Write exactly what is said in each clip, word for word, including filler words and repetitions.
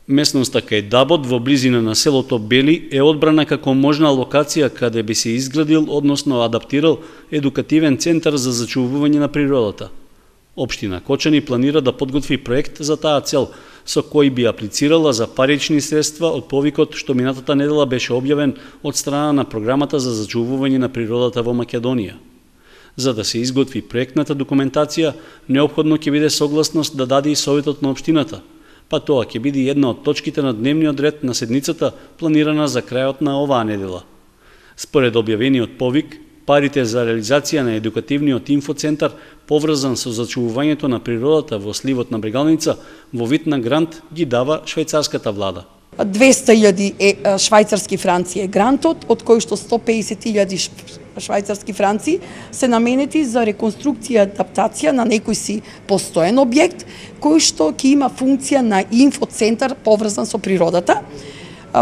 Местноста кај Дабот во близина на селото Бели е одбрана како можна локација каде би се изградил, односно адаптирал, едукативен центар за зачувување на природата. Општина Кочани планира да подготви проект за таа цел, со кој би аплицирала за парични средства од повикот што минатата недела беше објавен од страна на програмата за зачувување на природата во Македонија. За да се изготви проектната документација, неопходно ќе биде согласност да даде и Советот на општината, па тоа ќе биде една од точките на дневниот ред на седницата планирана за крајот на оваа недела. Според објавениот повик, парите за реализација на едукативниот инфоцентар поврзан со зачувувањето на природата во сливот на Брегалница во вид на грант ги дава швајцарската влада. двесте илјади швајцарски франци е грантот, од кој што сто песет илјади швајцарски франци се наменети за реконструкција и адаптација на некој си постоен објект, кој што ќе има функција на инфоцентар поврзан со природата.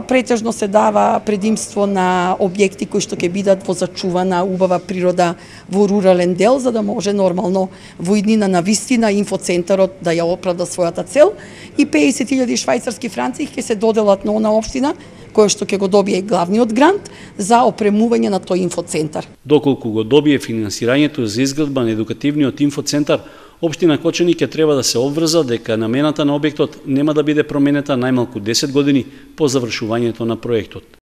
Претежно се дава предимство на објекти кои што ќе бидат во зачувана убава природа во рурален дел, за да може нормално во иднина на вистина инфоцентарот да ја оправда својата цел, и песет илјади швајцарски франци ќе се доделат на она општина која што ќе го добие главниот грант за опремување на тој инфоцентар. Доколку го добие финансирањето за изградба на едукативниот инфоцентар, општина Кочани ќе треба да се обврза дека намената на објектот нема да биде променета најмалку десет години по завршувањето на проектот.